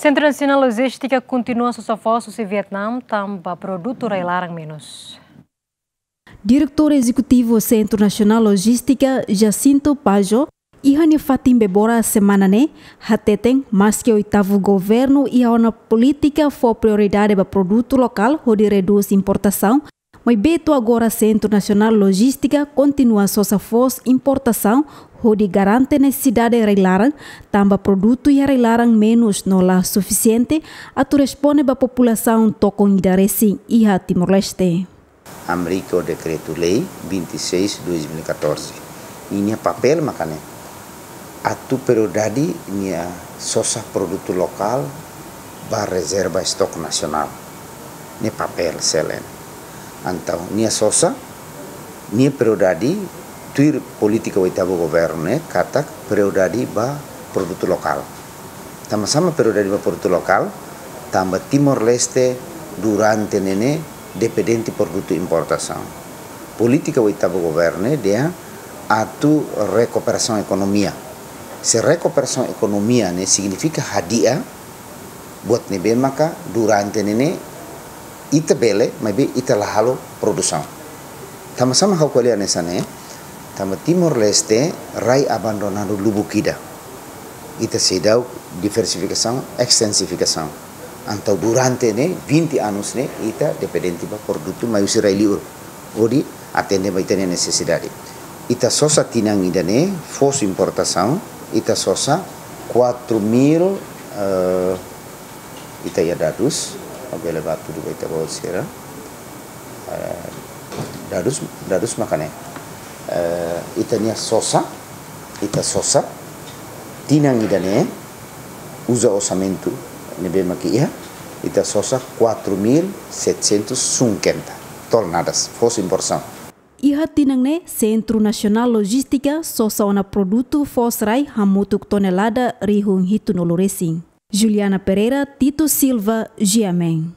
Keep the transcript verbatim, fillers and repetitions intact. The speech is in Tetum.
Sentru Nasionál Lojístika kontinua sosa foos husi Vietnam tanba produtu rai-laran menus. Diretór Ezekutivu Sentru Nasionál Lojístika, Jacinto Pajo, iha nia fatin Bebora semana ne'e hateten, maski oitavu governu iha ona polítika fó prioridade ba produtu lokál hodi redús importasaun, maibé to'o agora Sentru Nasionál Lojístika kontinua sosa foos importasaun hodi garante nesesidade rai-laran, tanba produtu iha rai-laran menus no la sufisiente atu responde ba populasaun tokon ida resin iha Timor-Leste. Amplifica o Decreto-Lei vinte e seis dois mil e catorze. Ninia papél maka ne'e atu prioridade nia sosa produtu lokál ba rezerva estoque nasionál. Ne'e papél selen. Entaun, nia sosa, nia prioridade tuir polítika oitavu governu ne'e katak prioridade ba produtu lokál. Tanba sá mak prioridade ba produtu lokál? Tanba Timor-Leste durante ne'e ne'e dependente produtu importasaun. Polítika oitavu governu ne'e dehan atu rekuperasaun ekonomia. Se rekuperasaun ekonomia ne'e signifika hadi'a buat ne'ebé maka durante ne'e ne'e ita bele, maibé ita la halo produsaun. Tanba sá mak ha'u ko'alia hanesan ne'e? Tanba Timor-Leste rai abandonadu lubuk ida. Ita seidauk diversifikasaun, ekstensifikasaun. Entaun durante ne'e vinte anos ne'e ita dependente ba produtu mai husi rai-li'ur hodi atende ba ita-nia nesesidade. Ita sosa tinan ida-ne'e foos importasaun, ita sosa quatro mil, eh, ita iha dadus, ha'u bele bá hatudu ba ita-boot sira. Eh, dadus, dadus maka ne'e. Eh, ita-nia sosa, ita sosa tinan ida-ne'e, uza orsamentu ne'ebé mak iha, ita sosa quatro mil setecentos cinquenta toneladas foos importasaun. Iha tinan ne'e, Sentru Nasionál Lojístika sosa ona produtu foos rai hamutuk tonelada rihun hitunulu resin. Juliana Pereira, Tito Silva, G M N.